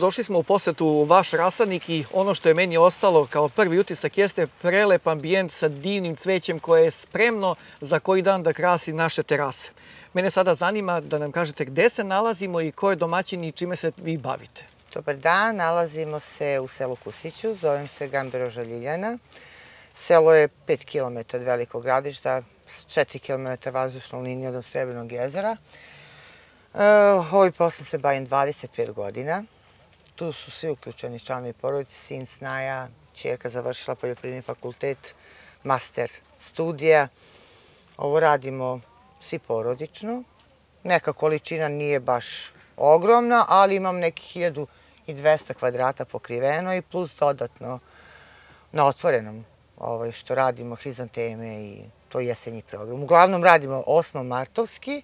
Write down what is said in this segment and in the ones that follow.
došli smo u posetu u vaš rasadnik i ono što je meni ostalo kao prvi utisak jeste prelep ambijent sa divnim cvećem koje je spremno za koji dan da krasi naše terase. Mene sada zanima da nam kažete gde se nalazimo i ko je domaćin i čime se vi bavite. Dobar dan, nalazimo se u selu Kusiću, zovem se Gamberoža Ljiljana. Selo je 5 km od Velikog Gradišta, 4 km vazdušnom linijom od Srebrnog jezera. Ovim poslom se bavim 25 godina. Tu su svi uključeni članovi porodice, sin snaja, ćerka završila poljoprivredni fakultet, master studija. Ovo radimo svi porodično. Neka količina nije baš ogromna, ali imam nekih 1200 kvadrata pokriveno i plus dodatno na otvorenom što radimo hrizanteme i to jesenji program. Uglavnom radimo osmomartovski,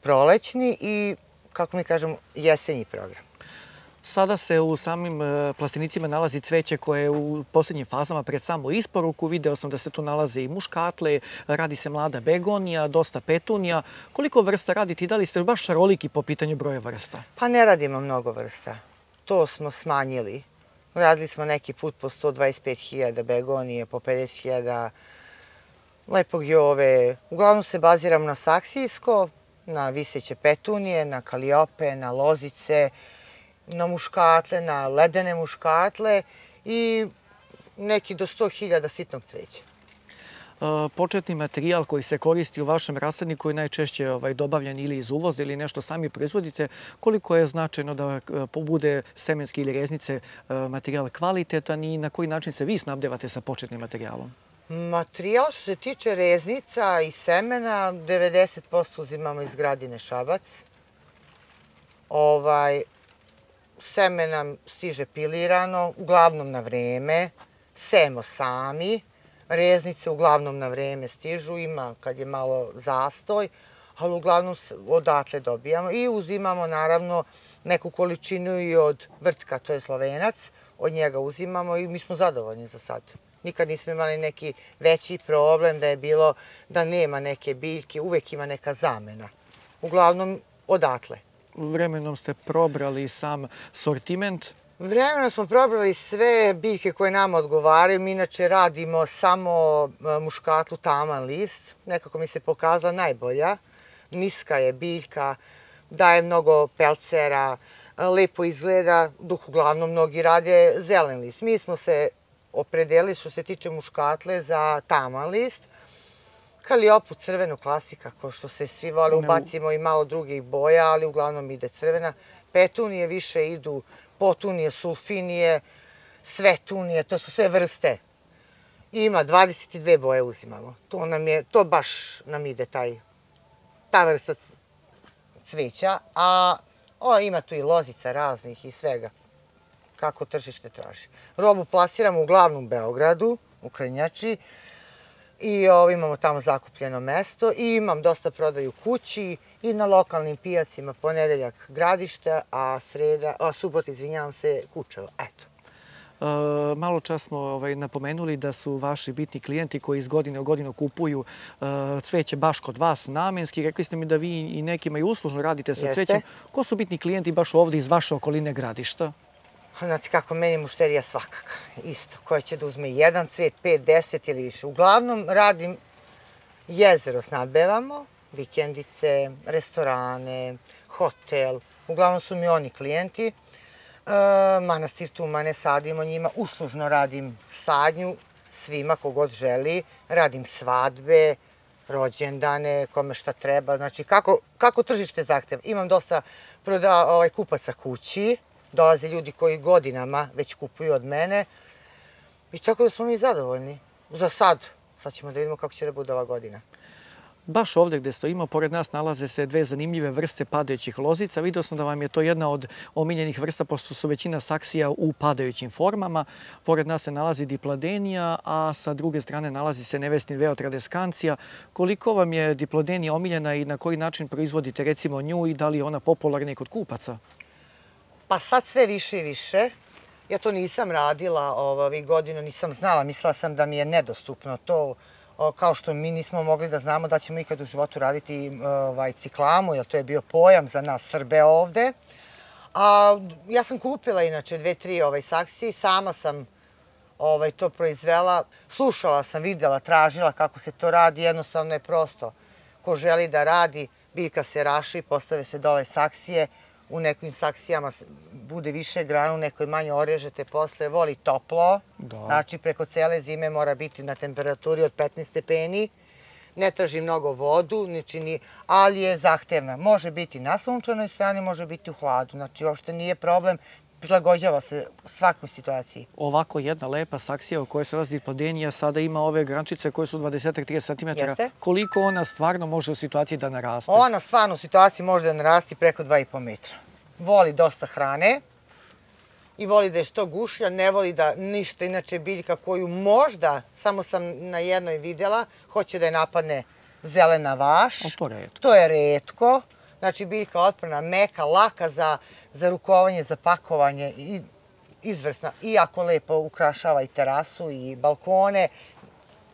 prolećni i, kako mi kažemo, jesenji program. Sada se u samim plastenicima nalazi cveće koje je u posljednjim fazama pred samu isporuku. Video sam da se tu nalaze i muškatle, radi se mlada begonija, dosta petunija. Koliko vrsta radite i da li ste baš šaroliki po pitanju broja vrsta? Pa ne radimo mnogo vrsta. To smo smanjili. Radili smo neki put po 125.000 begonije, po 50.000 lepog jove. Uglavnom se baziramo na saksijsko, na viseće petunije, na kaliope, na lozice, na muškatle, na ledene muškatle i neki do 100.000 sitnog cveća. Početni materijal koji se koristi u vašem rasadniku je najčešće dobavljen ili iz uvoza ili nešto sami proizvodite. Koliko je značajno da bude semenski ili reznice materijal kvalitetan i na koji način se vi snabdevate sa početnim materijalom? Materijal što se tiče reznica i semena, 90% uzimamo iz Gradine Šabac. Seme nam stiže pilirano, uglavnom na vreme, sejemo sami, reznice uglavnom na vreme stižu, ima kad je malo zastoj, ali uglavnom odatle dobijamo i uzimamo naravno neku količinu i od Vrtka, to je Slovenac, od njega uzimamo i mi smo zadovoljni za sad. Nikad nismo imali neki veći problem da je bilo da nema neke biljke, uvek ima neka zamena. Uglavnom odatle. Vremenom ste probrali sam sortiment? Vremenom smo probrali sve biljke koje nama odgovaraju. Mi inače radimo samo muškatlu taman list. Nekako mi se pokazala najbolja. Niska je biljka, daje mnogo pelcera, lepo izgleda, dok uglavnom mnogi rade zelen list. Mi smo se opredelili što se tiče muškatle za taman list. Kaliopu crvenu klasika, kao što se svi vole, ubacimo i malo drugih boja, ali uglavnom ide crvena. Petunije više idu, potunije, sulfinije, svetunije, to su sve vrste. Ima 22 boje uzimamo. To baš nam ide ta vrsta cveća. A ima tu i lozica raznih i svega, kako tržište traži. Robu plasiramo uglavnom u Beogradu, u Krnjači. I imamo tamo zakupljeno mesto i imam dosta prodaju kući i na lokalnim pijacima, ponedeljak Gradište, a subota, izvinjavam se, Kučevo. Eto. Malo čas smo napomenuli da su vaši bitni klijenti koji iz godine u godinu kupuju cveće baš kod vas namenski. Rekli ste mi da vi i nekima i uslužno radite sa cvećem. Ko su bitni klijenti baš ovdje iz vaše okoline Gradišta? Znate kako, meni mušterija svakaka. Isto, koja će da uzme jedan cvet, 5, 10 ili više. Uglavnom radim jezero, snadbevamo, vikendice, restorane, hotel. Uglavnom su mi oni klijenti. Manastir tumane sadimo njima, uslužno radim sadnju svima kogod želi. Radim svadbe, rođendane, kome šta treba. Znači, kako tržište zahteva. Imam dosta kupaca kući. Dolaze ljudi koji godinama već kupuju od mene i tako da smo mi zadovoljni. Za sad. Sad ćemo da vidimo kako će da bude ova godina. Baš ovdje gdje stojimo, pored nas nalaze se dve zanimljive vrste padajućih lozica. Vidio sam da vam je to jedna od omiljenih vrsta, pošto su većina saksija u padajućim formama. Pored nas se nalazi diplodenija, a sa druge strane nalazi se nevestin veo tradeskancija. Koliko vam je diplodenija omiljena i na koji način proizvodite recimo nju i da li je ona popularna i kod kupaca? Pa sad sve više i više. Ja to nisam radila ovih godina, nisam znala. Mislila sam da mi je nedostupno to, kao što mi nismo mogli da znamo da ćemo ikad u životu raditi ciklamu, jer to je bio pojam za nas Srbe ovde. A ja sam kupila inače 2-3 saksije i sama sam to proizvela. Slušala sam, videla, tražila kako se to radi, jednostavno je prosto. Ko želi da radi, biljka se raši, postave se dole saksije, u nekim saksijama bude više grana, u nekoj manje orežete posle, voli toplo, znači preko cele zime mora biti na temperaturi od 15 stepeni, ne traži mnogo vodu, ali je zahtevna. Može biti na sunčanoj strani, može biti u hladu, znači uopšte nije problem, prilagođava se svakoj situaciji. Ovako jedna lepa saksija u kojoj se nalazi Diplodenia sada ima ove grančice koje su 20-30 cm. Koliko ona stvarno može u situaciji da naraste? Ona stvarno u situaciji može da narasti preko 2,5 metra. Voli dosta hrane i voli da je što gušlja, ne voli da ništa, inače biljka koju možda, samo sam na jednoj videla, hoće da je napadne zelena vaš. To je retko. Znači biljka otporna, meka, laka za rukovanje, za pakovanje, izvrsna. Iako lepo ukrašava i terasu i balkone.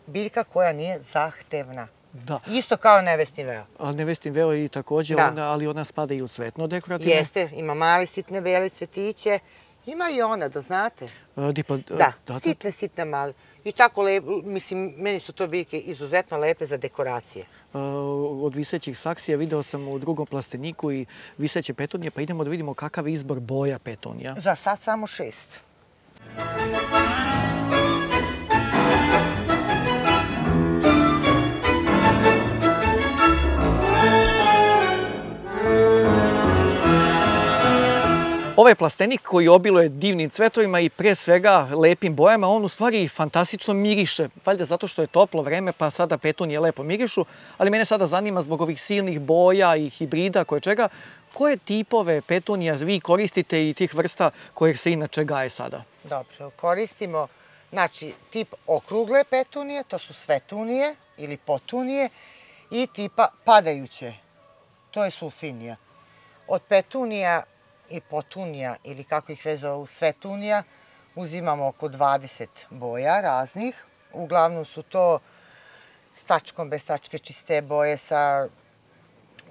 Biljka koja nije zahtevna. Isto kao nevestin veo. Nevestin veo i također, ali ona spada i u cvetno dekorativno? Jeste, ima mali sitne bele cvetiće. Ima i ona, da znate. Da, sitne male. I tako lepo, mislim, meni su to biljke izuzetno lepe za dekoracije. Od visećih saksija video sam u drugom plasteniku i viseće petunije, pa idemo da vidimo kakav je izbor boja petunija. Za sad samo 6. Ovaj plastenik koji obiluje divnim cvetovima i pre svega lepim bojama, on u stvari fantastično miriše. Valjda zato što je toplo vreme pa sada petunije lepo mirišu, ali mene sada zanima zbog ovih silnih boja i hibrida čega, koje tipove petunija vi koristite i tih vrsta kojih se inače gaje sada? Dobro, koristimo znači tip okrugle petunije, to su svetunije ili potunije i tipa padajuće, to je sulfinija. Od petunija i potunija ili kako ih već zovu svetunija uzimamo oko 20 boja raznih. Uglavnom su to s tačkom, bez tačke, čiste boje sa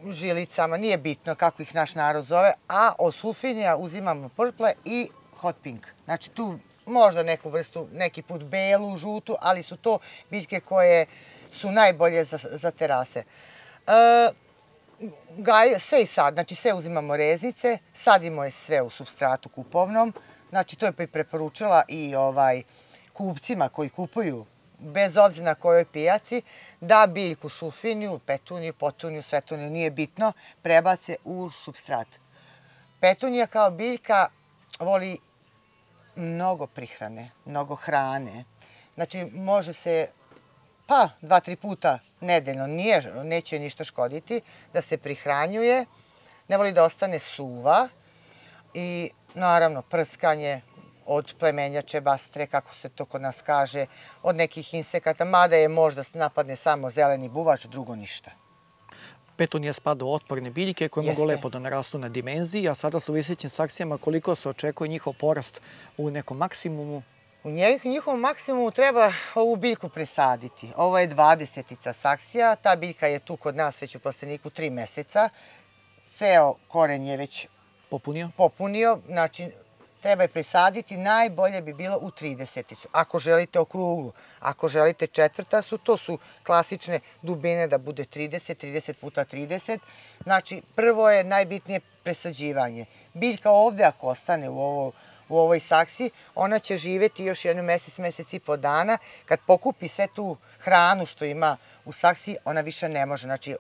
žilicama, nije bitno kako ih naš narod zove, a od sulfinija uzimamo purple i hot pink. Znači tu možda neku vrstu, neki put belu, žutu, ali su to biljke koje su najbolje za terase. Sve i sad, znači sve uzimamo reznice, sadimo je sve u supstratu kupovnom, znači to je preporučila i kupcima koji kupuju, bez obzira na kojoj pijaci, da biljku sulfiniju, petuniju, potuniju, svetuniju, nije bitno, prebace u supstrat. Petunija kao biljka voli mnogo prihrane, mnogo hrane, znači može se 2-3 puta nedeljno, neće ništa škoditi, da se prihranjuje, ne voli da ostane suva i naravno prskanje od plemenjače, bastre, kako se to kod nas kaže, od nekih insekata, mada je možda napadne samo zeleni buvač, drugo ništa. Petunija spada u otporne biljke koje mogu lepo da narastu na dimenziji, a sada su u visećim saksijama koliko se očekuje njihov porast u nekom maksimumu? U njihovom maksimumu treba ovu biljku presaditi. Ovo je 20-ica saksija, ta biljka je tu kod nas već u plasteniku 3 meseca. Ceo koren je već popunio, znači treba je presaditi, najbolje bi bilo u 30-icu. Ako želite okruglu, ako želite četvrtastu, to su klasične dubine da bude 30, 30 puta 30. Znači prvo je najbitnije presađivanje. Biljka ovde ako ostane u ovoj saksiji, ona će živeti još jedno mesec i po dana. Kad pokupi sve tu hranu što ima u saksiji, ona više ne može. Znači,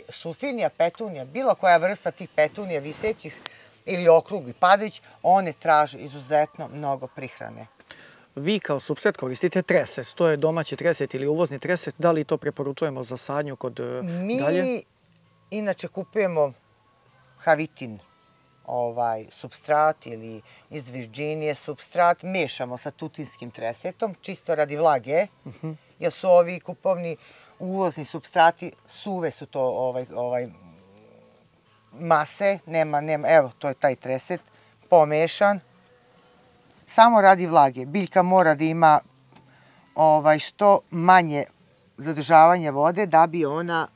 sulfinija, petunija, bilo koja vrsta tih petunija visećih ili okrugli padajući, one traže izuzetno mnogo prihrane. Vi kao supstrat koristite treset, to je domaći treset ili uvozni treset, da li to preporučujemo za sadnju kod dalje? Mi inače kupujemo Havitin supstrat ili iz Virginije supstrat, mešamo sa tutinskim tresetom, čisto radi vlage, jer su ovi kupovni uvozni supstrati, suve su to mase, evo to je taj treset, pomešan, samo radi vlage. Biljka mora da ima što manje zadržavanje vode da bi ona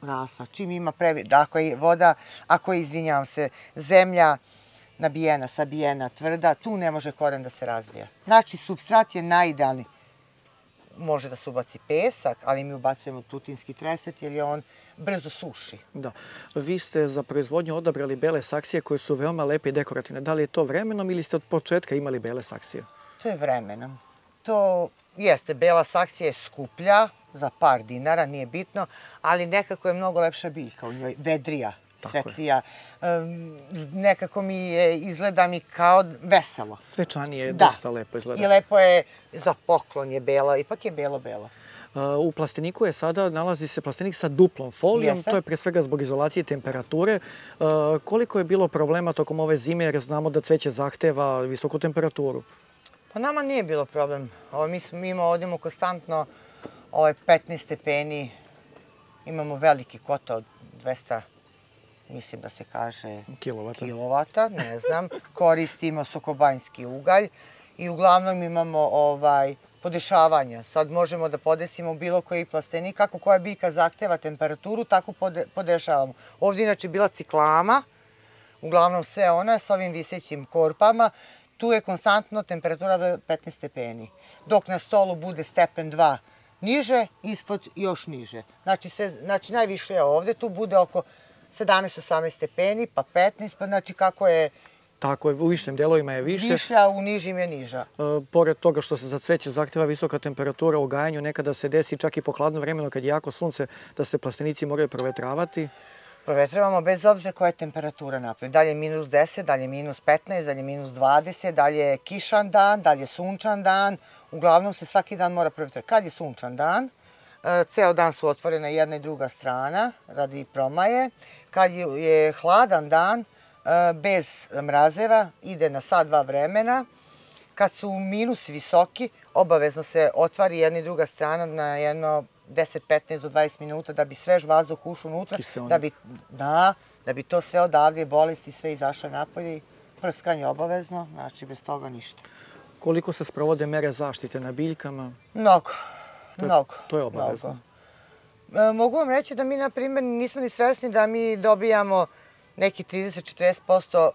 rasla. Čim ima ako je voda, ako je, izvinjavam se, zemlja nabijena, sabijena, tvrda, tu ne može koren da se razvija. Znači, supstrat je najidealniji. Može da se ubaci pesak, ali mi ubacujemo tutinski treset jer je on brzo suši. Da. Vi ste za proizvodnju odabrali bele saksije koje su veoma lepe i dekorativne. Da li je to vremenom ili ste od početka imali bele saksije? To je vremenom. To jeste, bela saksija je skuplja za par dinara, nije bitno, ali nekako je mnogo lepša biljka u njoj, vedrija, svetlija. Nekako izgleda mi kao veselo. Svečanije je dosta lepo izgleda. I lepo je, za poklon je bela, ipak je belo-belo. U plasteniku nalazi se plastenik sa duplom folijom, to je pre svega zbog izolacije temperature. Koliko je bilo problema tokom ove zime, jer znamo da cveće zahteva visoku temperaturu? Pa nama nije bilo problem. Mi imamo konstantno 15 stepeni, imamo veliki kotao od 200, mislim da se kaže kilovata, ne znam. Koristimo sokobanjski ugalj i uglavnom imamo podešavanja. Sad možemo da podesimo bilo koji plastenik, kako koja biljka zahteva temperaturu, tako podešavamo. Ovdje inače bila ciklama, uglavnom sve ona sa ovim visećim korpama. Tu je konstantno temperatura 15 stepeni. Dok na stolu bude stepen 2 niže, ispod još niže. Znači najviše je ovdje, tu bude oko 17-18 stepeni, pa 15, pa znači kako je... Tako je, u višim delovima je više. Viša, u nižim je niža. Pored toga što se za cveće zahteva visoka temperatura u gajanju, nekada se desi čak i po hladno vremenu kad je jako sunce, da se plastenici moraju provetravati. Provetravamo bez obzira koja je temperatura napolju. Dalje je minus 10, dalje je minus 15, dalje je minus 20, dalje je kišan dan, dalje je sunčan dan. Uglavnom se svaki dan mora provetravati. Kad je sunčan dan, ceo dan su otvorena jedna i druga strana radi promaje. Kad je hladan dan, bez mrazeva, ide na sat, dva vremena. Kad su minusi visoki, obavezno se otvari jedna i druga strana na jedno 10, 15 do 20 minuta da bi svež vazduh ušao unutra, da bi to sve odavde, bolesti, sve izašle napolje. Prskanje obavezno, znači bez toga ništa. Koliko se sprovode mere zaštite na biljkama? Mnogo. To je obavezno. Mogu vam reći da mi, na primjer, nismo ni svesni da mi dobijamo neki 30-40%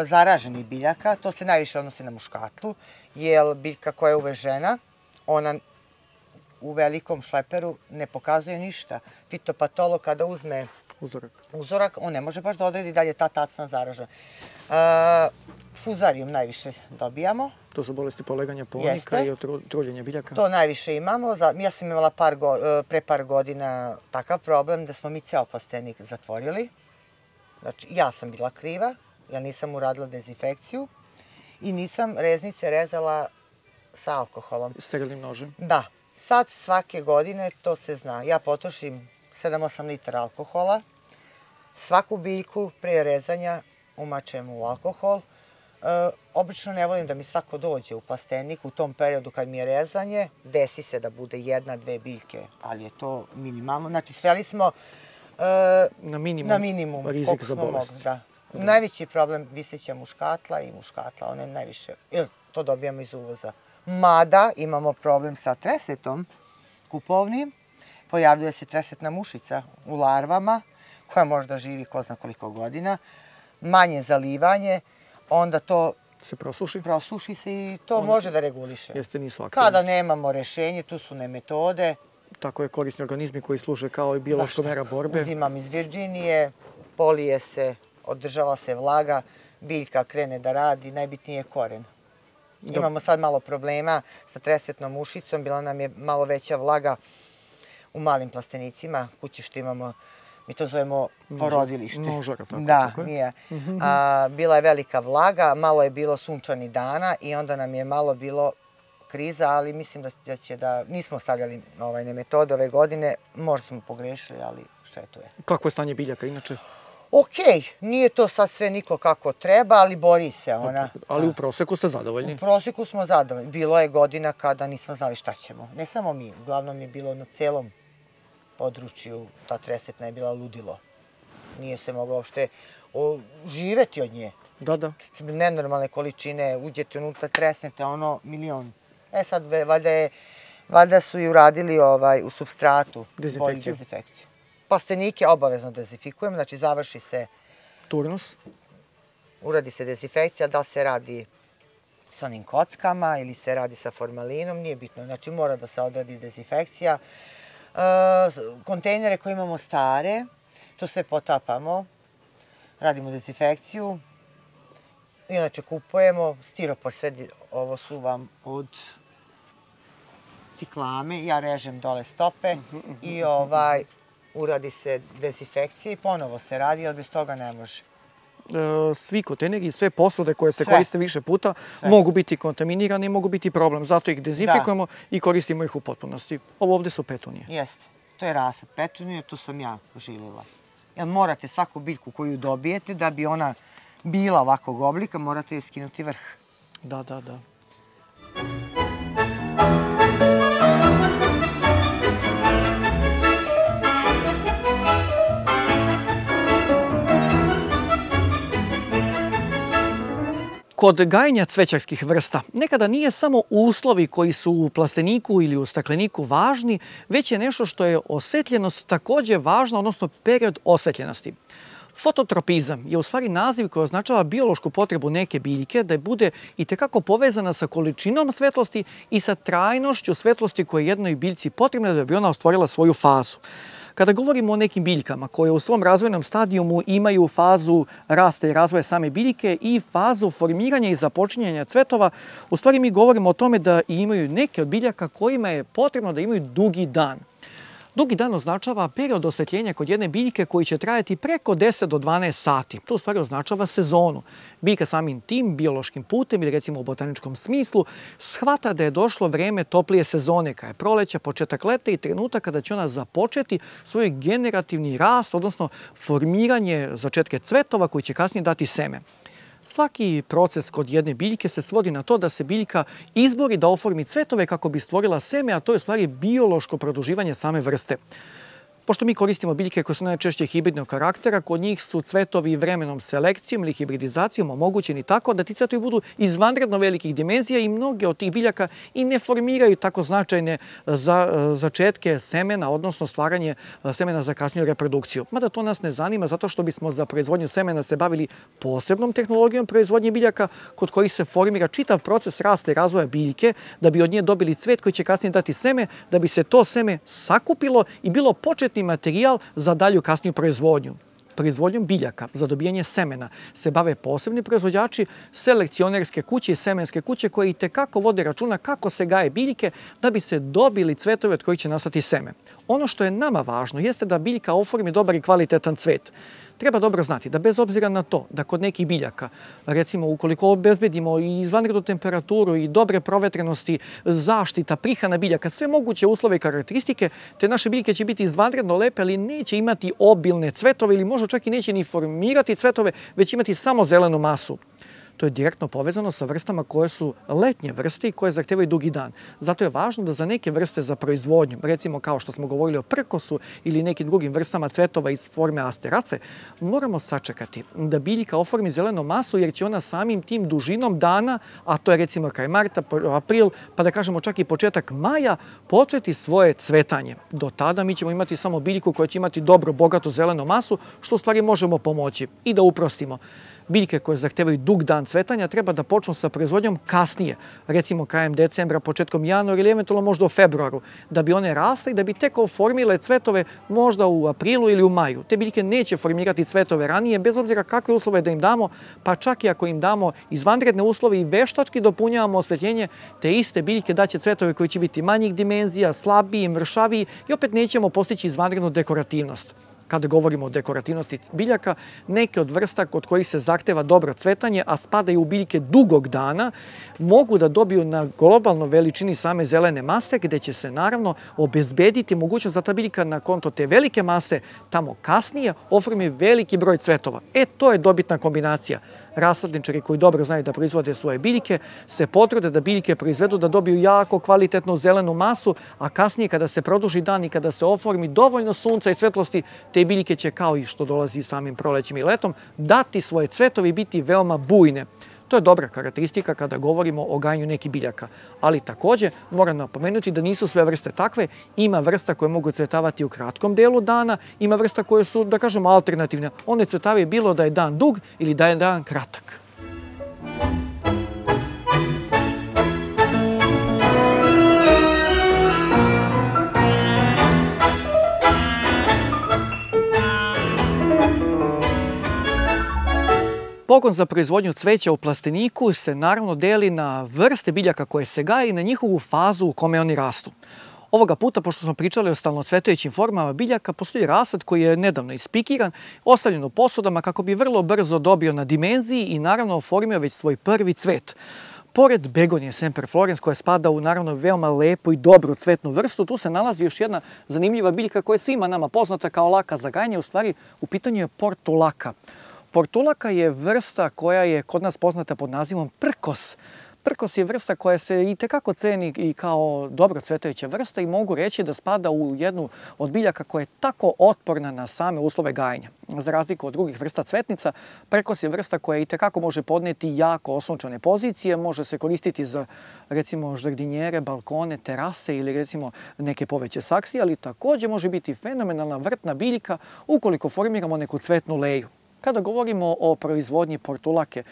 zaraženih biljaka. To se najviše odnosi na muškatlu, jer biljka koja je uvežena, ona u velikom šleperu ne pokazuje ništa. Fitopatolog kada uzme uzorak, on ne može baš da odredi da li je ta tacna zaražena. Fuzarijum najviše dobijamo. To su bolesti poleganja ponika i truljenja biljaka? To najviše imamo. Ja sam imala pre par godina takav problem da smo mi ceo plastenik zatvorili. Znači, ja sam bila kriva, ja nisam uradila dezinfekciju i nisam reznice rezala sa alkoholom. Sterilnim nožem? Da. Sad svake godine to se zna. Ja potrošim 7-8 litara alkohola. Svaku biljku prije rezanja umačem u alkohol. Obično ne volim da mi svako dođe u plastenik u tom periodu kad mi je rezanje. Desi se da bude jedna, dve biljke, ali je to minimalno. Znači, sveli smo na minimum rizik za bolest. Najveći problem viseća muškatla i muškatla, one najviše, to dobijamo iz uvoza. Mada imamo problem sa tresetom kupovnim, pojavljuje se tresetna mušica u larvama, koja možda živi ko zna koliko godina, manje zalivanje, onda to se prosuši se i to može da reguliše. Jeste, nisu aktivni. Kada nemamo rešenje, tu su nemetode. Tako je, korisni organizmi koji služe kao i biološka mera borbe. Uzimam iz Virginije, polije se, održava se vlaga, biljka krene da radi, najbitnije je koren. Imamo sad malo problema sa tresetnom mušicom, bila nam je malo veća vlaga u malim plastenicima, kući što imamo, mi to zovemo porodilište. Nožara, tako. Da, nije. Bila je velika vlaga, malo je bilo sunčanih dana i onda nam je malo bilo kriza, ali mislim da nismo stavljali nemetode ove godine, možda smo pogrešili, ali što je to je. Kako je stanje biljaka inače? Okej, nije to sad sve niklo kako treba, ali bori se ona. Ali u proseku ste zadovoljni? U proseku smo zadovoljni. Bilo je godina kada nismo znali šta ćemo. Ne samo mi, uglavnom je bilo na celom području, ta tresetna je bila ludilo. Nije se moglo uopšte živeti od nje. Da. Nenormalne količine, uđete unutra, tresnete, ono, milion. Sad, valjda su i uradili u supstratu bolju dezinfekciju. Plastenike obavezno dezinfikujemo, znači završi se... Turnus? uradi se dezinfekcija, da se radi sa onim kockama ili se radi sa formalinom, nije bitno. Znači mora da se odradi dezinfekcija. Kontejnere koje imamo stare, to sve potapamo, radimo dezinfekciju. Inače kupujemo stiropor, sve ovo su vam od ciklame, ja režem dole stope i uradi se dezinfekcija i ponovo se radi, ali bez toga ne može. Svi kontejneri i sve posude koje se koriste više puta mogu biti kontaminirane i mogu biti problem. Zato ih dezinfikujemo i koristimo ih u potpunosti. Ovo ovde su petunije. Jeste. To je rasad petunije, to sam ja žilila. Jer morate svaku biljku koju dobijete, da bi ona bila ovakvog oblika, morate joj skinuti vrh. Da. Kod gajenja cvećarskih vrsta nekada nije samo uslovi koji su u plasteniku ili u stakleniku važni, već je nešto što je osvetljenost takođe važna, odnosno period osvetljenosti. Fototropizam je u stvari naziv koji označava biološku potrebu neke biljke da bude itekako povezana sa količinom svetlosti i sa trajnošću svetlosti koje je jednoj biljci potrebna da bi ona ostvarila svoju fazu. Kada govorimo o nekim biljkama koje u svom razvojnom stadijumu imaju fazu rasta i razvoja same biljke i fazu formiranja i započinjanja cvetova, u stvari mi govorimo o tome da imaju neke od biljaka kojima je potrebno da imaju dugi dan. Dugi dan označava period osvetljenja kod jedne biljke koji će trajati preko 10 do 12 sati. To u stvari označava sezonu. Biljka samim tim biološkim putem ili recimo u botaničkom smislu shvata da je došlo vreme toplije sezone, kada je proleća, početak leta i trenutak kada će ona započeti svoj generativni rast, odnosno formiranje začetke cvetova koji će kasnije dati seme. Svaki proces kod jedne biljke se svodi na to da se biljka izbori da oformi cvetove kako bi stvorila seme, a to je u stvari biološko produživanje same vrste. Pošto mi koristimo biljke koje su najčešće hibridnog karaktera, kod njih su cvetovi vremenom selekcijom ili hibridizacijom omogućeni tako da ti cvetovi budu izvanredno velikih dimenzija i mnoge od tih biljaka i ne formiraju tako značajne začetke semena, odnosno stvaranje semena za kasniju reprodukciju. Mada to nas ne zanima zato što bismo za proizvodnju semena se bavili posebnom tehnologijom proizvodnje biljaka kod kojih se formira čitav proces rasta i razvoja biljke da bi od nje dobili cvet koji će kasnije dati seme, da bi se to seme sakupilo i bilo početni materijal za dalju kasniju proizvodnju. Proizvodnjom biljaka za dobijanje semena se bave posebni proizvođači, selekcionerske kuće i semenske kuće koje itekako vode računa kako se gaje biljke da bi se dobili cvetovi od kojih će nastati seme. Ono što je nama važno jeste da biljka oformi dobar i kvalitetan cvet. Treba dobro znati da bez obzira na to da kod nekih biljaka, recimo ukoliko obezbedimo i izvanrednu temperaturu i dobre provetrenosti, zaštita, prihrana biljaka, sve moguće uslove i karakteristike, te naše biljke će biti izvanredno lepe, ali neće imati obilne cvetove ili možda čak i neće ni formirati cvetove, već imati samo zelenu masu. To je direktno povezano sa vrstama koje su letnje vrste i koje zahtevaju dugi dan. Zato je važno da za neke vrste za proizvodnju, recimo kao što smo govorili o prkosu ili nekim drugim vrstama cvetova iz forme asterace, moramo sačekati da biljka oformi zelenu masu jer će ona samim tim dužinom dana, a to je recimo kraj marta, april, pa da kažemo čak i početak maja, početi svoje cvetanje. Do tada mi ćemo imati samo biljku koja će imati dobro, bogatu zelenu masu, što u stvari možemo pomoći. I da uprostimo. Biljke koje zahtevaju dug dan cvetanja treba da počnu sa proizvodnjom kasnije, recimo krajem decembra, početkom januara ili eventualno možda u februaru, da bi one rasle i da bi tek oformile cvetove možda u aprilu ili u maju. Te biljke neće formirati cvetove ranije, bez obzira kakve uslove da im damo, pa čak i ako im damo izvanredne uslove i veštački dopunjavamo osvetljenje, te iste biljke daće cvetove koji će biti manjih dimenzija, slabiji, mršaviji i opet nećemo postići izvanrednu dekorativnost. Kada govorimo o dekorativnosti biljaka, neke od vrsta kod kojih se zahteva dobro cvetanje, a spadaju u biljke dugog dana, mogu da dobiju na globalnoj veličini same zelene mase, gde će se naravno obezbediti mogućnost da ta biljka na konto te velike mase tamo kasnije oformi veliki broj cvetova. To je dobitna kombinacija. Rasadničari koji dobro znaju da proizvode svoje biljke se potrude da biljke proizvedu da dobiju jako kvalitetnu zelenu masu, a kasnije kada se produži dan i kada se oformi dovoljno sunca i svetlosti, te biljke će, kao i što dolazi samim prolećem i letom, dati svoje cvetove i biti veoma bujne. To je dobra karakteristika kada govorimo o gajanju nekih biljaka. Ali takođe moram napomenuti da nisu sve vrste takve. Ima vrsta koje mogu cvetavati u kratkom delu dana, ima vrsta koje su, da kažemo, alternativne. One cvetavaju bilo da je dan dug ili da je dan kratak. Pogon za proizvodnju cveća u plasteniku se naravno deli na vrste biljaka koje se gaje i na njihovu fazu u kome oni rastu. Ovoga puta, pošto smo pričali o stalnocvetajućim formama biljaka, postoji rasad koji je nedavno ispikiran, ostavljen u posudama kako bi vrlo brzo dobio na dimenziji i naravno oformio već svoj prvi cvet. Pored begonije Semper Florens, koja spada u naravno veoma lepu i dobru cvetnu vrstu, tu se nalazi još jedna zanimljiva biljka koja je svima nama poznata kao laka za gajanje, u stvari u pitanju je portulaka. Portulaka je vrsta koja je kod nas poznata pod nazivom prkos. Prkos je vrsta koja se itekako ceni i kao dobro cvetajuća vrsta i mogu reći da spada u jednu od biljaka koja je tako otporna na same uslove gajenja. Za razliku od drugih vrsta cvetnica, prkos je vrsta koja itekako može podneti jako osunčane pozicije, može se koristiti za recimo žardinjere, balkone, terase ili recimo neke poveće saksije, ali također može biti fenomenalna vrtna biljka ukoliko formiramo neku cvetnu leju. Kada govorimo o proizvodnji portulake,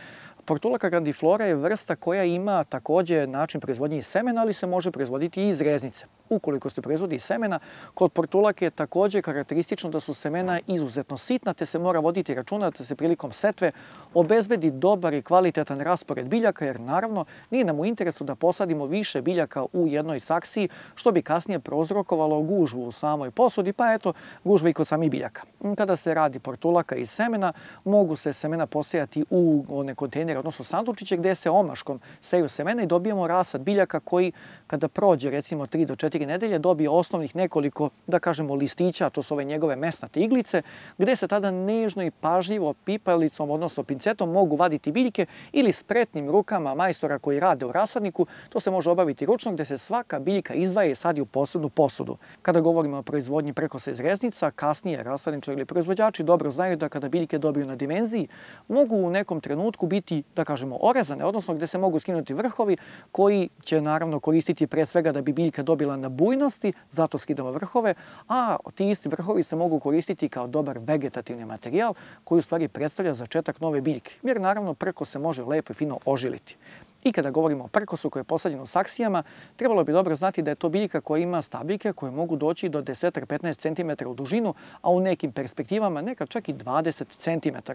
Portulaka grandiflora je vrsta koja ima također način proizvodnje iz semena, ali se može proizvoditi i iz reznice. Ukoliko se proizvodi iz semena, kod portulake je također karakteristično da su semena izuzetno sitna, te se mora voditi računa da se prilikom setve obezbedi dobar i kvalitetan raspored biljaka, jer naravno nije nam u interesu da posadimo više biljaka u jednoj saksiji, što bi kasnije prouzrokovalo gužvu u samoj posudi, pa eto gužve i kod samih biljaka. Kada se radi portulaka iz semena, mogu se semena posejati u one kontejnere, odnosno sandučiće gdje se omaškom seju semena i dobijemo rasad biljaka koji kada prođe recimo 3 do 4 nedelje dobije osnovnih nekoliko, da kažemo, listića, to su ove njegove mesnate iglice, gdje se tada nežno i pažljivo pipalicom, odnosno pincetom mogu vaditi biljke ili spretnim rukama majstora koji rade u rasadniku. To se može obaviti ručno gdje se svaka biljka izdvaja i sadi u posebnu posudu. Kada govorimo o proizvodnji prekosa iz reznica, kasnije rasadničari ili proizvođači dobro znaju da kada biljke dobiju na dimenziji, mogu u nekom trenutku biti, da kažemo, orezane, odnosno gdje se mogu skinuti vrhovi koji će naravno koristiti pre svega da bi biljka dobila na bujnosti, zato skidamo vrhove, a ti isti vrhovi se mogu koristiti kao dobar vegetativni materijal koji u stvari predstavlja začetak nove biljke, jer naravno prkos se može lepo i fino ožiliti. I kada govorimo o prkosu koji je posađen u saksijama, trebalo bi dobro znati da je to biljka koja ima stabljike koje mogu doći do 10-15 cm u dužinu, a u nekim perspektivama nekad čak i 20 cm.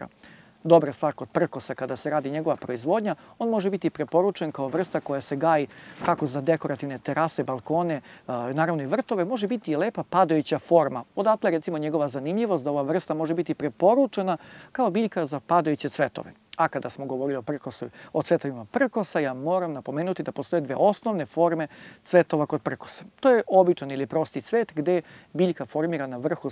Dobra stvar kod prkosa kada se radi njegova proizvodnja, on može biti preporučen kao vrsta koja se gaji kako za dekorativne terase, balkone, naravno i vrtove, može biti i lepa padajuća forma. Odatle recimo njegova zanimljivost da ova vrsta može biti preporučena kao biljka za padajuće cvetove. A kada smo govorili o cvetovima prkosa, ja moram napomenuti da postoje dve osnovne forme cvetova kod prkosa. To je običan ili prosti cvet gdje biljka formira na vrhu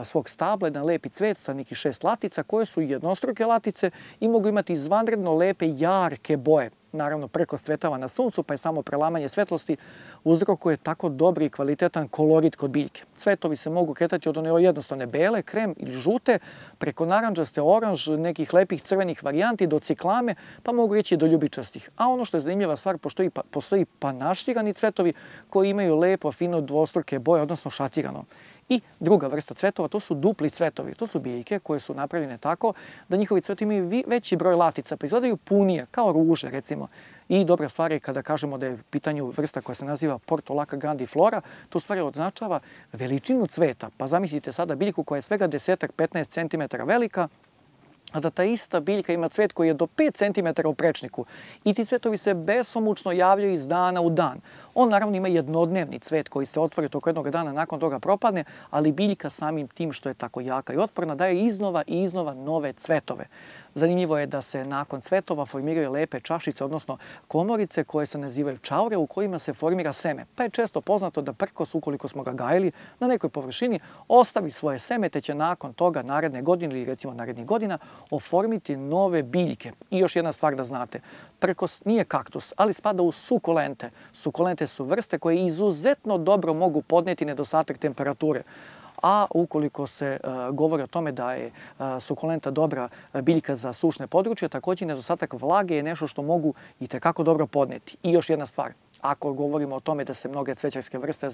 svog stabla jedan lepi cvet sa nekih 6 latica koje su jednostruke latice i mogu imati izvanredno lepe, jarke boje. Naravno, prkos cvetava na suncu, pa je samo prelamanje svetlosti uzrokuje tako dobri i kvalitetan kolorit kod biljke. Cvetovi se mogu kretati od one jednostavne bele, krem ili žute, preko naranđaste, oranž, nekih lepih crvenih varijanti do ciklame, pa mogu reći do ljubičastih. A ono što je zanimljiva stvar, postoji panaširani cvetovi koji imaju lepo, fino dvostruke boje, odnosno šatirano. I druga vrsta cvetova, to su dupli cvetovi. To su biljke koje su napravljene tako da njihovi cvetovi imaju veći broj latica, pa izgledaju punije, kao ruže recimo. I dobra stvar je kada kažemo da je u pitanju vrsta koja se naziva Portulaka grandiflora, to u stvari označava veličinu cveta. Pa zamislite sada biljku koja je svega 10-15 cm velika, a da ta ista biljka ima cvet koji je do 5 cm u prečniku i ti cvetovi se besomučno javljaju iz dana u dan. On naravno ima jednodnevni cvet koji se otvori toko jednog dana, nakon toga propadne, ali biljka samim tim što je tako jaka i otporna daje iznova i iznova nove cvetove. Zanimljivo je da se nakon cvetova formiraju lepe čašice, odnosno komorice koje se nazivaju čaure u kojima se formira seme. Pa je često poznato da prkos, ukoliko smo ga gajili na nekoj površini, ostavi svoje seme te će nakon toga naredne godine ili recimo narednih godina oformiti nove biljke. I još jedna stvar da znate, prkos nije kaktus, ali spada u sukulente. Sukulente su vrste koje izuzetno dobro mogu podneti nedostatak temperature. A ukoliko se govori o tome da je sukulenta dobra biljka za sušne područje, također nedostatak vlage je nešto što mogu itekako dobro podneti. I još jedna stvar, ako govorimo o tome da se mnoge cvećarske vrste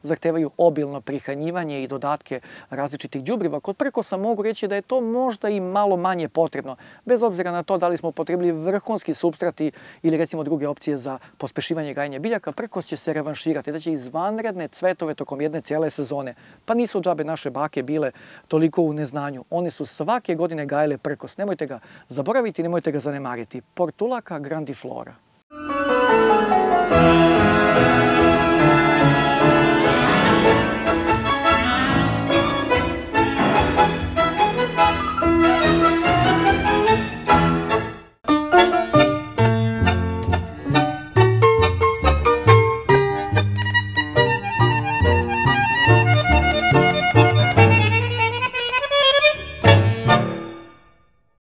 zahtevaju obilno prihranjivanje i dodatke različitih đubriva, kod prkosa mogu reći da je to možda i malo manje potrebno, bez obzira na to da li smo upotrebili vrhunski supstrati ili recimo druge opcije za pospešivanje gajenja biljaka. Prkos će se revanširati, da će izvanredne cvetove tokom jedne cijele sezone. Pa nisu džabe naše bake bile toliko u neznanju. One su svake godine gajile prkos. Nemojte ga zaboraviti, nemojte ga zanemariti. Portulaca grandiflora.